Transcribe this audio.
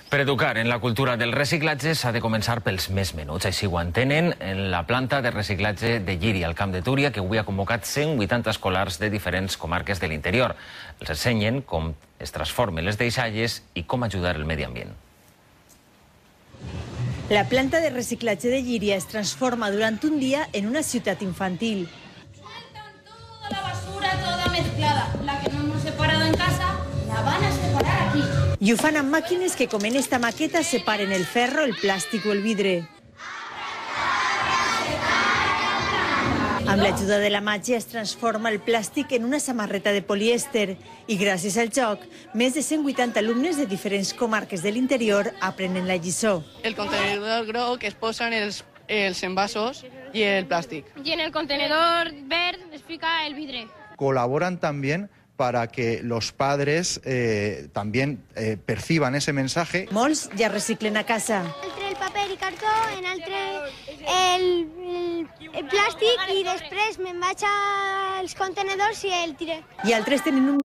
Per educar en la cultura del reciclatge s'ha de començar pels més menuts. Així ho entenen en la planta de reciclatge de Llíria, al Camp de Túria, que avui ha convocat 180 escolars de diferents comarques de l'interior. Els ensenyen com es transformen les deixalles i com ajudar el medi ambient. La planta de reciclatge de Llíria es transforma durant un día en una ciutat infantil. Sueltan toda la basura, toda mezclada. La que no hemos separado en casa, la van a separar aquí. I ho fan amb màquines que, com en esta maqueta, separen el ferro, el plàstic o el vidre. Amb l'ajuda de la màgia es transforma el plàstic en una samarreta de polièster i gràcies al joc, més de 180 alumnes de diferents comarques de l'interior aprenen la lliçó. El contenedor groc es posen els envasos i el plàstic. Y en el contenedor verde les fica el vidre. Colaboran también para que los padres también perciban ese mensaje. Molts ja reciclen a casa. El paper i cartó, en altre el plàstic i després me'n vaig als contenedors i el tiré. I altres tenen un